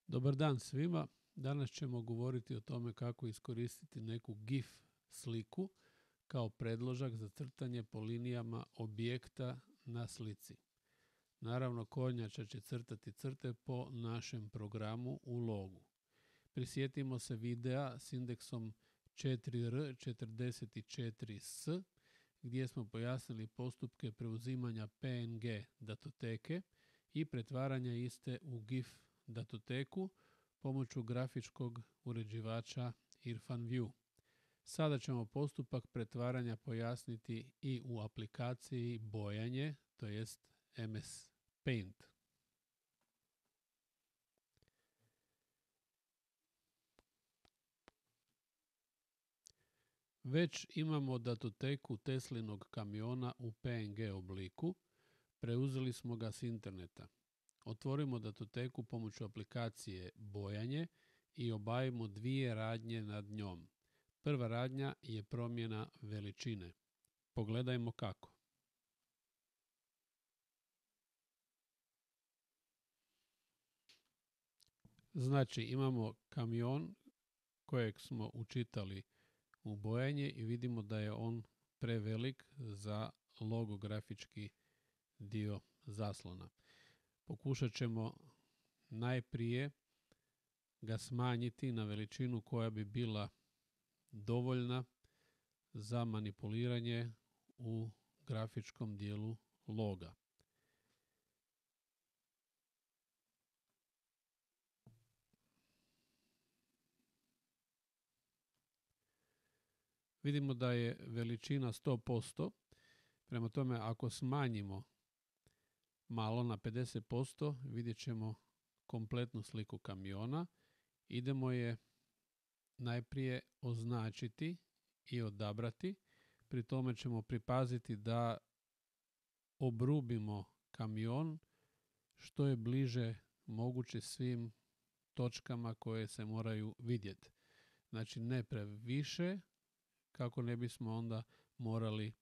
Dobar dan svima. Danas ćemo govoriti o tome kako iskoristiti neku GIF sliku kao predložak za crtanje po linijama objekta na slici. Naravno, kornjača će crtati crte po našem programu u logu. Prisjetimo se videa s indeksom 4R44S gdje smo pojasnili postupke preuzimanja PNG datoteke i pretvaranja iste u GIF datoteku pomoću grafičkog uređivača Irfan View. Sada ćemo postupak pretvaranja pojasniti i u aplikaciji bojanje, to jest MS Paint. Već imamo datoteku Teslinog kamiona u PNG obliku, preuzeli smo ga s interneta. Otvorimo datoteku pomoću aplikacije bojanje i obavimo dvije radnje nad njom. Prva radnja je promjena veličine. Pogledajmo kako. Znači, imamo kamion kojeg smo učitali u bojanje i vidimo da je on prevelik za logografički dio zaslona. Pokušat ćemo najprije ga smanjiti na veličinu koja bi bila dovoljna za manipuliranje u grafičkom dijelu loga. Vidimo da je veličina 100%, prema tome ako smanjimo malo na 50%, vidjet ćemo kompletnu sliku kamiona. Idemo je najprije označiti i odabrati. Pri tome ćemo pripaziti da obrubimo kamion što je bliže moguće svim točkama koje se moraju vidjeti. Znači ne previše, kako ne bismo onda morali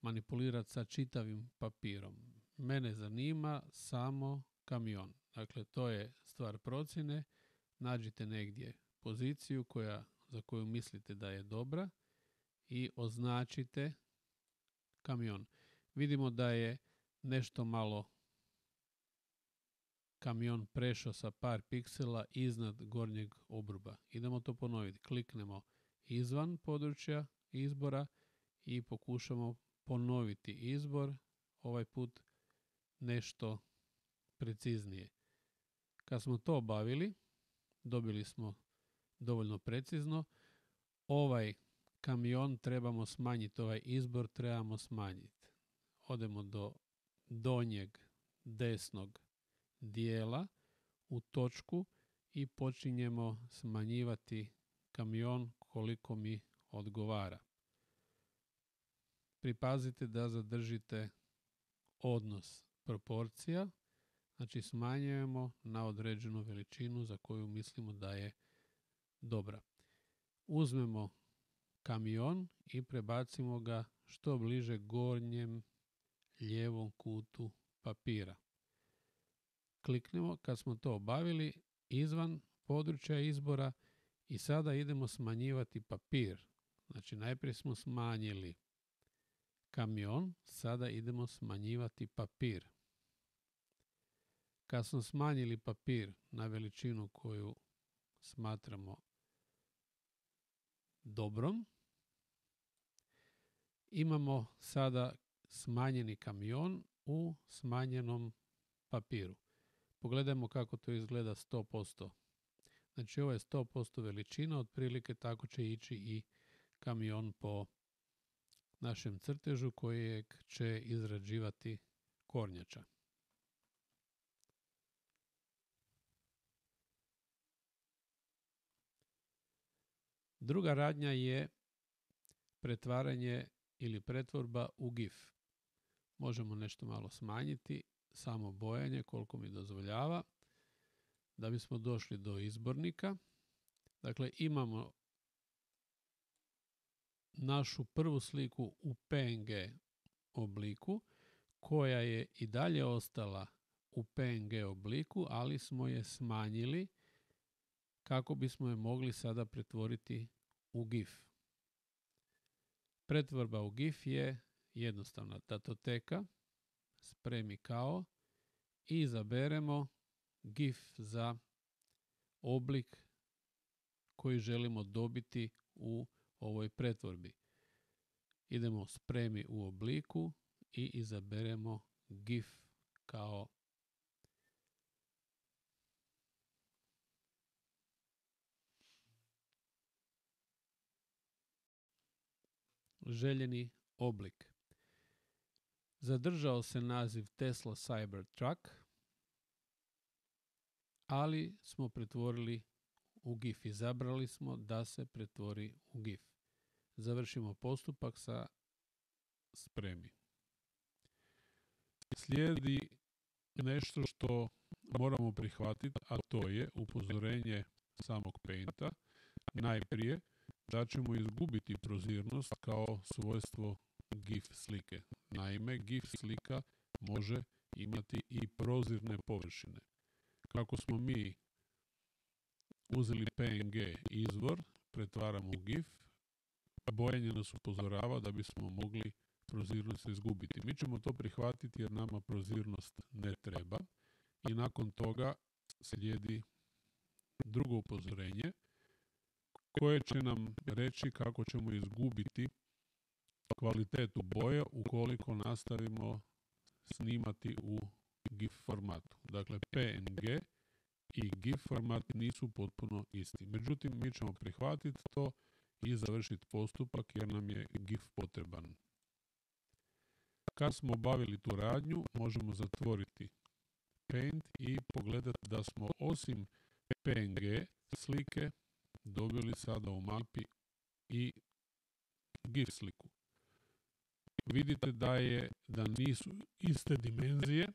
manipulirati sa čitavim papirom. Mene zanima samo kamion. Dakle, to je stvar procjene. Nađite negdje poziciju za koju mislite da je dobra i označite kamion. Vidimo da je nešto malo kamion prešao sa par piksela iznad gornjeg obruba. Idemo to ponoviti. Kliknemo izvan područja izbora i pokušamo ponoviti izbor, ovaj put nešto preciznije. Kad smo to obavili, dobili smo dovoljno precizno. Ovaj kamion trebamo smanjiti, ovaj izbor trebamo smanjiti. Odemo do donjeg desnog dijela u točku i počinjemo smanjivati kamion koliko mi odgovara. Pripazite da zadržite odnos proporcija, znači smanjujemo na određenu veličinu za koju mislimo da je dobra. Uzmemo kamion i prebacimo ga što bliže gornjem lijevom kutu papira. Kliknemo kad smo to obavili izvan područja izbora i sada idemo smanjivati papir. Znači najprije smo smanjili kamion, sada idemo smanjivati papir. Kad smo smanjili papir na veličinu koju smatramo dobrom, imamo sada smanjeni kamion u smanjenom papiru. Pogledajmo kako to izgleda 100%. Znači ovo je 100% veličina, otprilike tako će ići i kamion po našem crtežu kojeg će izrađivati kornjača. Druga radnja je pretvaranje ili pretvorba u GIF. Možemo nešto malo smanjiti, samo bojanje koliko mi dozvoljava, da bismo došli do izbornika. Dakle, imamo našu prvu sliku u PNG obliku koja je i dalje ostala u PNG obliku, ali smo je smanjili kako bismo je mogli sada pretvoriti u GIF. Pretvorba u GIF je jednostavna. Datoteka, spremi kao i izaberemo GIF za oblik koji želimo dobiti u ovoj pretvorbi. Idemo spremi u obliku i izaberemo GIF kao željeni oblik. Zadržao se naziv Tesla Cybertruck, ali smo pretvorili u GIF. Izabrali smo da se pretvori u GIF. Završimo postupak sa spremi. Slijedi nešto što moramo prihvatiti, a to je upozorenje samog Painta. Najprije da ćemo izgubiti prozirnost kao svojstvo GIF slike. Naime, GIF slika može imati i prozirne površine. Kako smo mi uzeli PNG izvor, pretvaramo u GIF, bojenje nas upozorava da bismo mogli prozirnost izgubiti. Mi ćemo to prihvatiti jer nama prozirnost ne treba i nakon toga slijedi drugo upozorenje koje će nam reći kako ćemo izgubiti kvalitetu boje ukoliko nastavimo snimati u GIF formatu. Dakle, PNG i GIF format nisu potpuno isti. Međutim, mi ćemo prihvatiti to i završiti postupak jer nam je GIF potreban. Kad smo obavili tu radnju, možemo zatvoriti Paint i pogledati da smo osim PNG slike dobili sada u mapi i GIF sliku. Vidite da nisu iste dimenzije,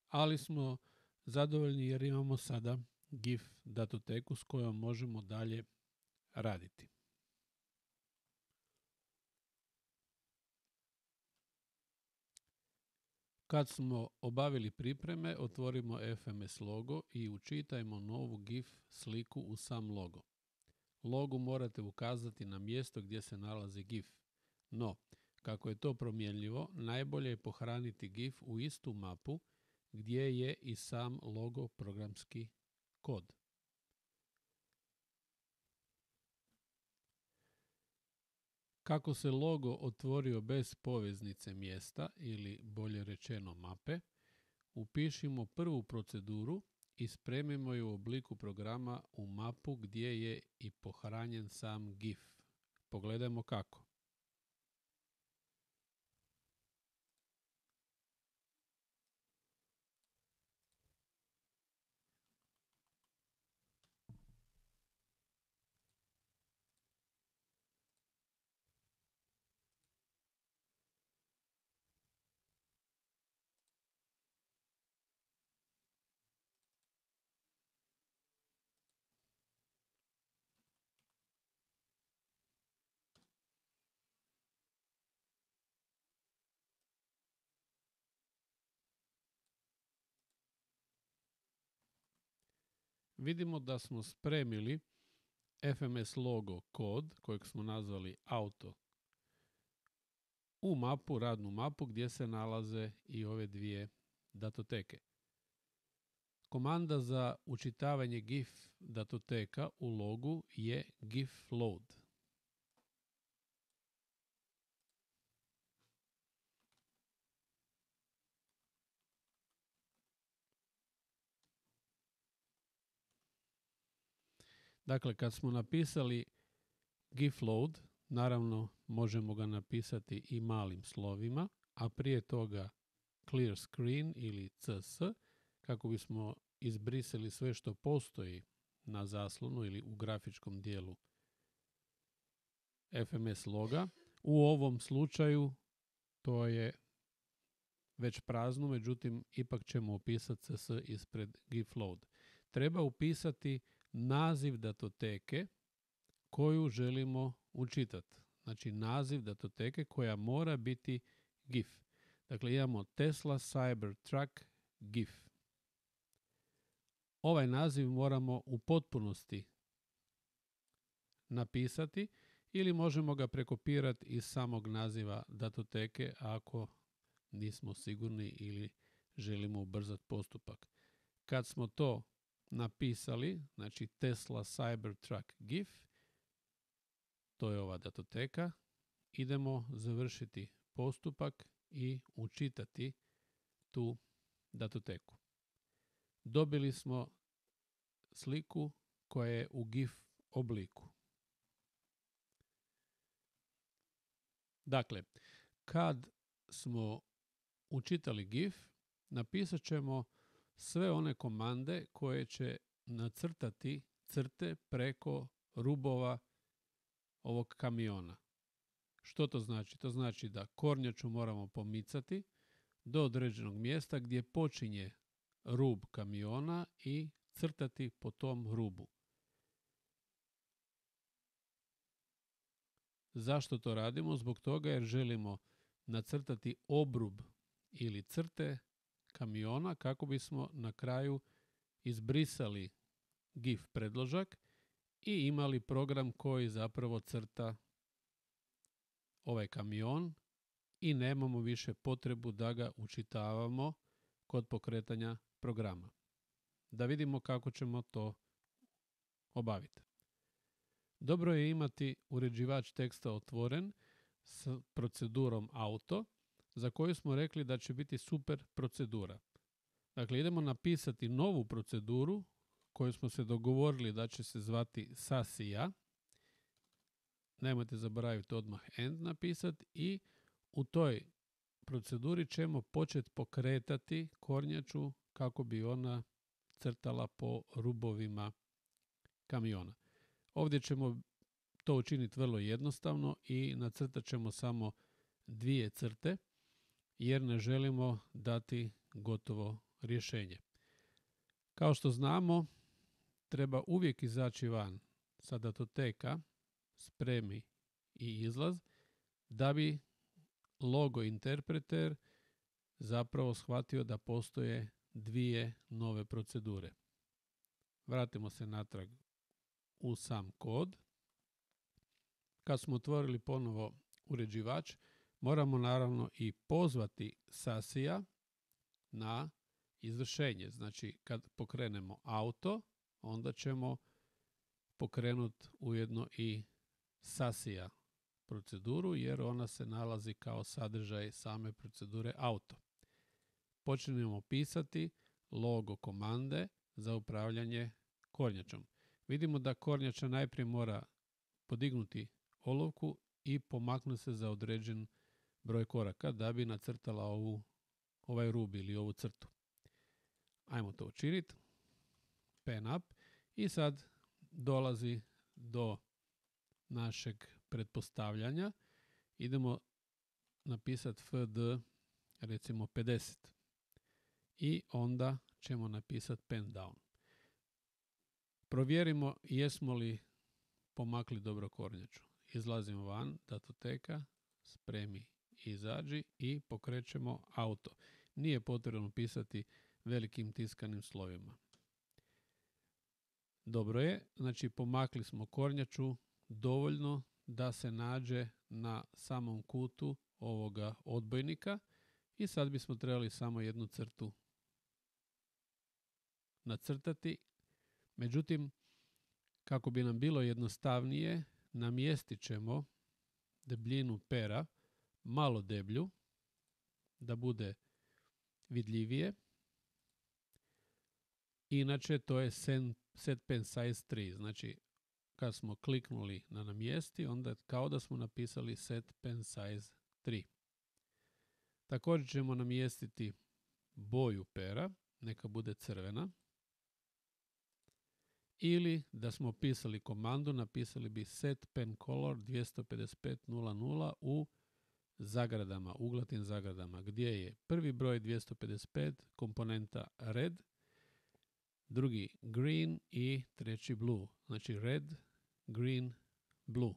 ali smo zadovoljni jer imamo sada GIF datoteku s kojom možemo dalje raditi. Kad smo obavili pripreme, otvorimo FMS logo i učitajmo novu GIF sliku u sam logo. Logu morate ukazati na mjesto gdje se nalazi GIF. No, kako je to promjenljivo, najbolje je pohraniti GIF u istu mapu gdje je i sam logo programski kod. Kako se logo otvorio bez poveznice mjesta ili bolje rečeno mape, upišimo prvu proceduru i spremimo ju u obliku programa u mapu gdje je i pohranjen sam GIF. Pogledajmo kako. Vidimo da smo spremili FMS logo kod kojeg smo nazvali auto u mapu, radnu mapu gdje se nalaze i ove dvije datoteke. Komanda za učitavanje GIF datoteka u logu je GIF load. Dakle, kad smo napisali GIF load, naravno možemo ga napisati i malim slovima, a prije toga clear screen ili CS, kako bismo izbrisali sve što postoji na zaslonu ili u grafičkom dijelu FMS loga. U ovom slučaju to je već prazno, međutim ipak ćemo upisati CS ispred GIF load. Treba upisati naziv datoteke koju želimo učitati. Znači naziv datoteke koja mora biti GIF. Dakle, imamo Tesla Cybertruck GIF. ovaj naziv moramo u potpunosti napisati ili možemo ga prekopirati iz samog naziva datoteke ako nismo sigurni ili želimo ubrzati postupak. Kad smo to napisali, znači Tesla Cybertruck GIF, to je ova datoteka, idemo završiti postupak i učitati tu datoteku. Dobili smo sliku koja je u GIF obliku. Dakle, kad smo učitali GIF, napisat ćemo sve one komande koje će nacrtati crte preko rubova ovog kamiona. Što to znači? To znači da kornjaču moramo pomicati do određenog mjesta gdje počinje rub kamiona i crtati po tom rubu. Zašto to radimo? Zbog toga jer želimo nacrtati obrub ili crte kamiona kako bismo na kraju izbrisali GIF predložak i imali program koji zapravo crta ovaj kamion i nemamo više potrebu da ga učitavamo kod pokretanja programa. Da vidimo kako ćemo to obaviti. Dobro je imati uređivač teksta otvoren s procedurom auto, za koju smo rekli da će biti super procedura. Dakle, idemo napisati novu proceduru koju smo se dogovorili da će se zvati SASIA. Nemojte zaboraviti odmah end napisati i u toj proceduri ćemo početi pokretati kornjaču kako bi ona crtala po rubovima kamiona. Ovdje ćemo to učiniti vrlo jednostavno i nacrtat ćemo samo 2 crte jer ne želimo dati gotovo rješenje. Kao što znamo, treba uvijek izaći van sa datoteka, spremi i izlaz, da bi logo interpreter zapravo shvatio da postoje 2 nove procedure. Vratimo se natrag u sam kod. Kad smo otvorili ponovo uređivač, moramo naravno i pozvati SASIA na izvršenje. Znači, kad pokrenemo auto, onda ćemo pokrenuti ujedno i SASIA proceduru, jer ona se nalazi kao sadržaj same procedure auto. Počnemo pisati logo komande za upravljanje kornjačom. Vidimo da kornjača najprije mora podignuti olovku i pomaknuti se za određen broj koraka da bi nacrtala ovaj rub ili ovu crtu. Ajmo to učiniti. Pen up. I sad dolazi do našeg pretpostavljanja. Idemo napisati FD recimo 50. I onda ćemo napisati pen down. Provjerimo jesmo li pomakli dobro kornjaču. Izlazimo van, datoteka, spremi i izađi i pokrećemo auto. Nije potrebno pisati velikim tiskanim slovima. Dobro je, znači pomakli smo kornjaču dovoljno da se nađe na samom kutu ovoga odbojnika i sad bismo trebali samo jednu crtu nacrtati. Međutim, kako bi nam bilo jednostavnije, namjestit ćemo debljinu pera malo deblju, da bude vidljivije. Inače, to je set pen size 3. Znači, kad smo kliknuli na namjesti, onda kao da smo napisali set pen size 3. Također ćemo namjestiti boju pera, neka bude crvena. Ili da smo pisali komandu, napisali bi set pen color 255.00 u zagradama, uglatim zagradama, gdje je prvi broj 255 komponenta red, drugi green i treći blue. Znači red, green, blue.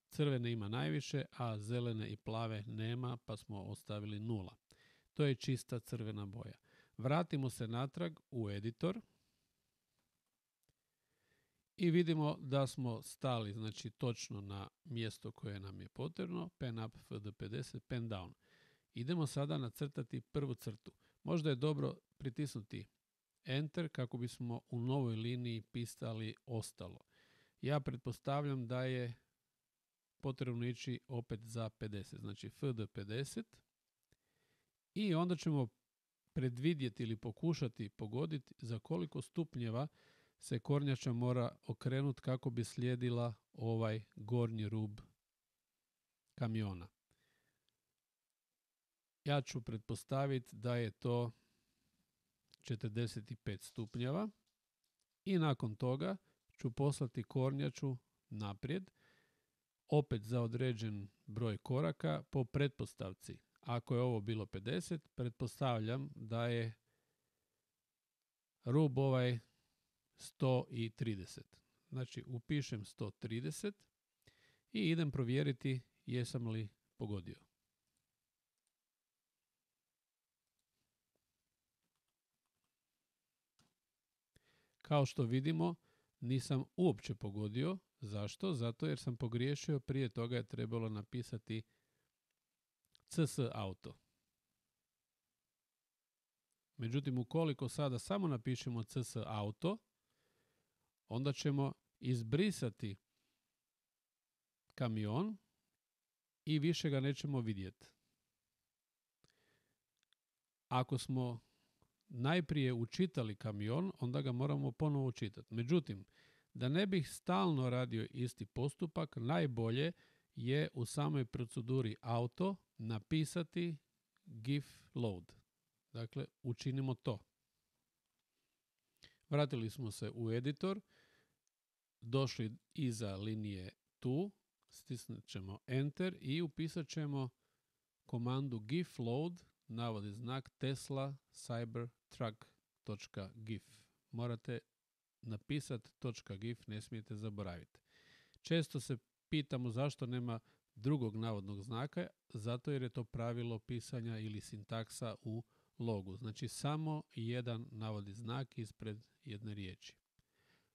Crvene ima najviše, a zelene i plave nema, pa smo ostavili 0. To je čista crvena boja. Vratimo se natrag u editor. I vidimo da smo stali, znači točno na mjesto koje nam je potrebno, pen up, FD50, pen down. Idemo sada nacrtati prvu crtu. Možda je dobro pritisnuti Enter kako bismo u novoj liniji pisali ostalo. Ja pretpostavljam da je potrebno ići opet za 50, znači FD50 i onda ćemo predvidjeti ili pokušati pogoditi za koliko stupnjeva se kornjača mora okrenuti kako bi slijedila ovaj gornji rub kamiona. Ja ću pretpostaviti da je to 45 stupnjeva i nakon toga ću poslati kornjaču naprijed, opet za određen broj koraka po pretpostavci. Ako je ovo bilo 50, pretpostavljam da je rub ovaj 130. Znači upišem 130 i idem provjeriti jesam li pogodio. Kao što vidimo, nisam uopće pogodio. Zašto? Zato jer sam pogriješio, prije toga je trebalo napisati CS auto. Međutim, ukoliko sada samo napišemo CS auto, onda ćemo izbrisati kamion i više ga nećemo vidjeti. Ako smo najprije učitali kamion, onda ga moramo ponovo učitati. Međutim, da ne bih stalno radio isti postupak, najbolje je u samoj proceduri auto napisati GIF load. Dakle, učinimo to. Vratili smo se u editor, došli iza linije tu, stisnut ćemo Enter i upisat ćemo komandu GIF load, navodi znak Tesla Cybertruck.gif. Morate napisati .gif, ne smijete zaboraviti. Često se pitamo zašto nema drugog navodnog znaka, zato jer je to pravilo pisanja ili sintaksa u logu. Znači samo jedan navodni znak ispred jedne riječi.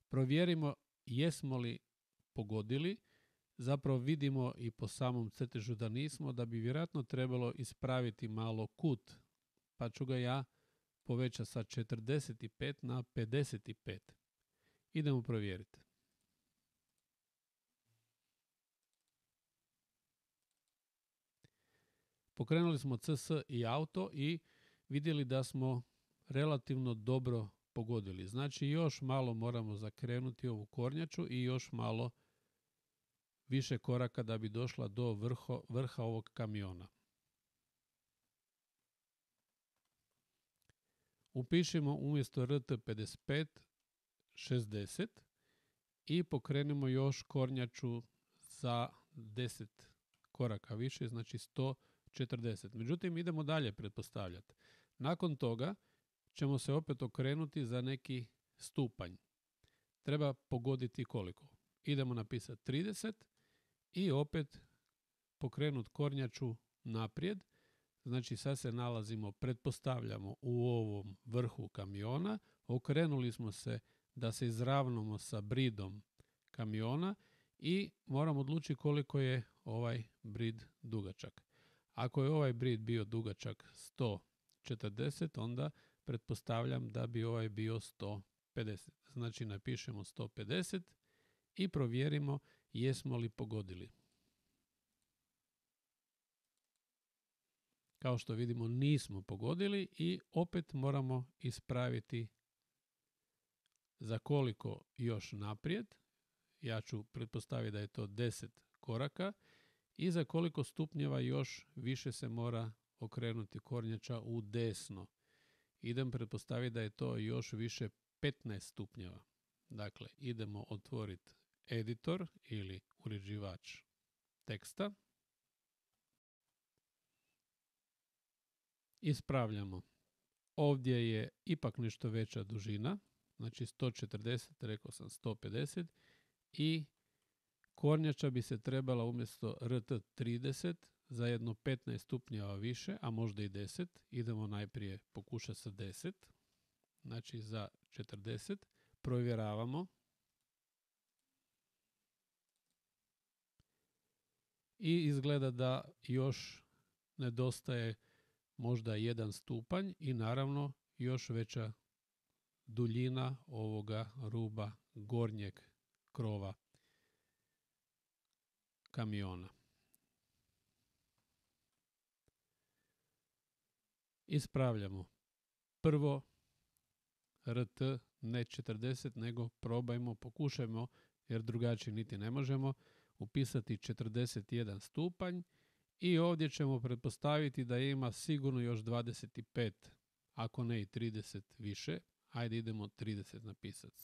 Provjerimo jesmo li pogodili. Zapravo vidimo i po samom crtežu da nismo, da bi vjerojatno trebalo ispraviti malo kut. Pa ću ga ja povećati sa 45 na 55. Idemo provjeriti. Pokrenuli smo CS i auto i vidjeli da smo relativno dobro pogodili. Znači još malo moramo zakrenuti ovu kornjaču i još malo više koraka da bi došla do vrha ovog kamiona. Upišemo umjesto RT55 60 i pokrenemo još kornjaču za 10 koraka više, znači 140. Međutim, idemo dalje pretpostavljati. Nakon toga ćemo se opet okrenuti za neki stupanj. Treba pogoditi koliko. Idemo napisati 30 i opet pokrenuti kornjaču naprijed. Znači sad se nalazimo, pretpostavljamo u ovom vrhu kamiona. Okrenuli smo se da se izravnamo sa bridom kamiona i moramo odlučiti koliko je ovaj brid dugačak. Ako je ovaj brid bio dugačak 140, onda pretpostavljam da bi ovaj bio 150. Znači napišemo 150 i provjerimo jesmo li pogodili. Kao što vidimo nismo pogodili i opet moramo ispraviti za koliko još naprijed. Ja ću pretpostaviti da je to 10 koraka i za koliko stupnjeva još više se mora okrenuti kornjača u desno. Idem pretpostaviti da je to još više 15 stupnjeva. Dakle, idemo otvoriti editor ili uređivač teksta. Ispravljamo. Ovdje je ipak nešto veća dužina, znači 140, rekao sam 150 i kornjača bi se trebala umjesto RT30 za jedno 15 stupnjeva više, a možda i 10. Idemo najprije pokušati sa 10, znači za 40. Provjeravamo. i izgleda da još nedostaje možda 1 stupanj i naravno još veća duljina ovoga ruba gornjeg krova kamiona. Ispravljamo. Prvo RT ne 40, nego pokušajmo, jer drugačije niti ne možemo, upisati 41 stupanj i ovdje ćemo pretpostaviti da ima sigurno još 25, ako ne i 30 više. Ajde idemo 30 napisati.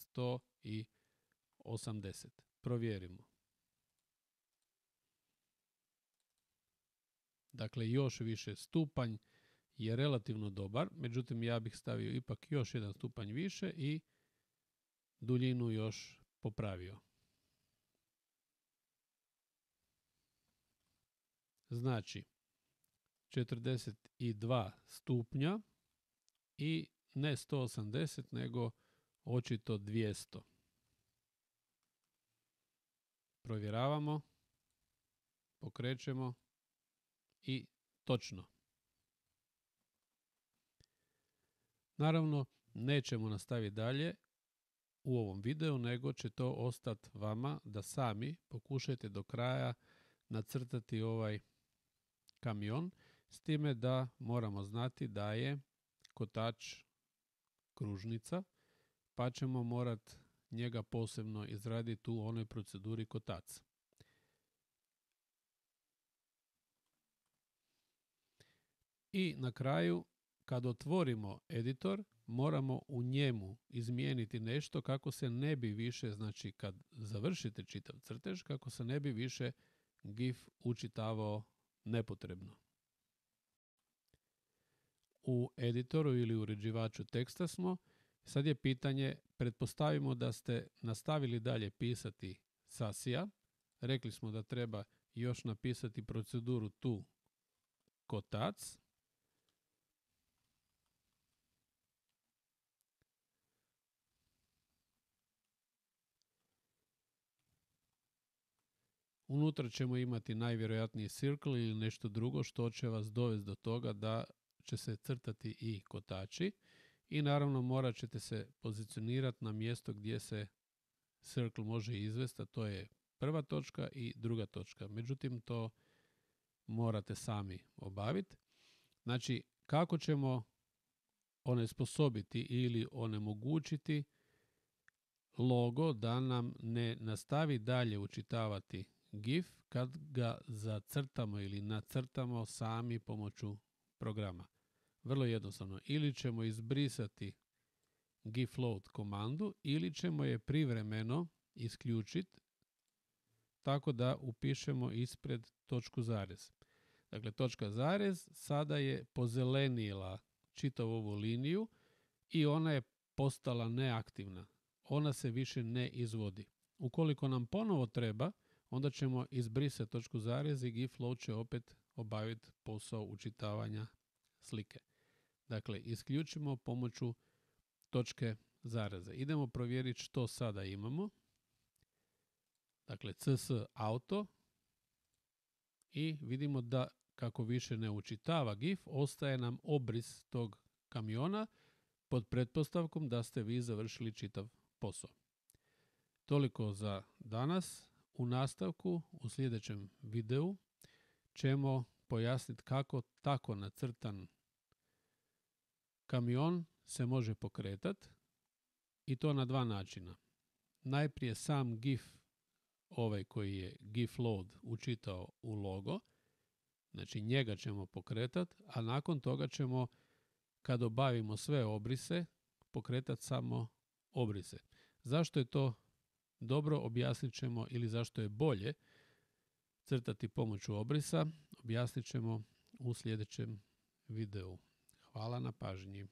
180. Provjerimo. Dakle, još više stupanj je relativno dobar, međutim ja bih stavio ipak još 1 stupanj više i duljinu još popravio. Znači, 42 stupnja i ne 180, nego očito 200. Provjeravamo, pokrećemo i točno. Naravno, nećemo nastaviti dalje u ovom videu, nego će to ostati vama da sami pokušajte do kraja nacrtati ovaj kamion, s time da moramo znati da je kotač kružnica, pa ćemo morati njega posebno izraditi u onoj proceduri kotaca. I na kraju, kad otvorimo editor, moramo u njemu izmijeniti nešto kako se ne bi više, znači kad završite čitav crtež, kako se ne bi više GIF učitavao nepotrebno. U editoru ili uređivaču teksta smo. Sad je pitanje, pretpostavimo da ste nastavili dalje pisati sasija. Rekli smo da treba još napisati proceduru tu kotac. Unutra ćemo imati najvjerojatniji circle ili nešto drugo što će vas dovesti do toga da će se crtati i kotači i naravno morat ćete se pozicionirati na mjesto gdje se circle može izvesti, a to je prva točka i druga točka. Međutim, to morate sami obaviti. Znači, kako ćemo onesposobiti ili onemogućiti logo da nam ne nastavi dalje učitavati GIF kad ga zacrtamo ili nacrtamo sami pomoću programa. Vrlo jednostavno. Ili ćemo izbrisati GIF load komandu ili ćemo je privremeno isključiti tako da upišemo ispred točku zarez. Dakle, točka zarez sada je pozelenila čitavu ovu liniju i ona je postala neaktivna. Ona se više ne izvodi. Ukoliko nam ponovo treba, onda ćemo izbrisati točku zarez i GIF load će opet obaviti posao učitavanja slike. Dakle, isključimo pomoću točke zareze. Idemo provjeriti što sada imamo. Dakle, cs auto i vidimo da kako više ne učitava GIF, ostaje nam obris tog kamiona pod pretpostavkom da ste vi završili čitav posao. Toliko za danas. U nastavku, u sljedećem videu, ćemo pojasniti kako tako nacrtan kamion se može pokretati i to na 2 načina. Najprije sam GIF, ovaj koji je GIF load učitao u logo, znači njega ćemo pokretati, a nakon toga ćemo, kad obavimo sve obrise, pokretati samo obrise. Zašto je to dobro, objasnit ćemo, ili zašto je bolje crtati pomoću obrisa, objasnit ćemo u sljedećem videu. Hvala na pažnji.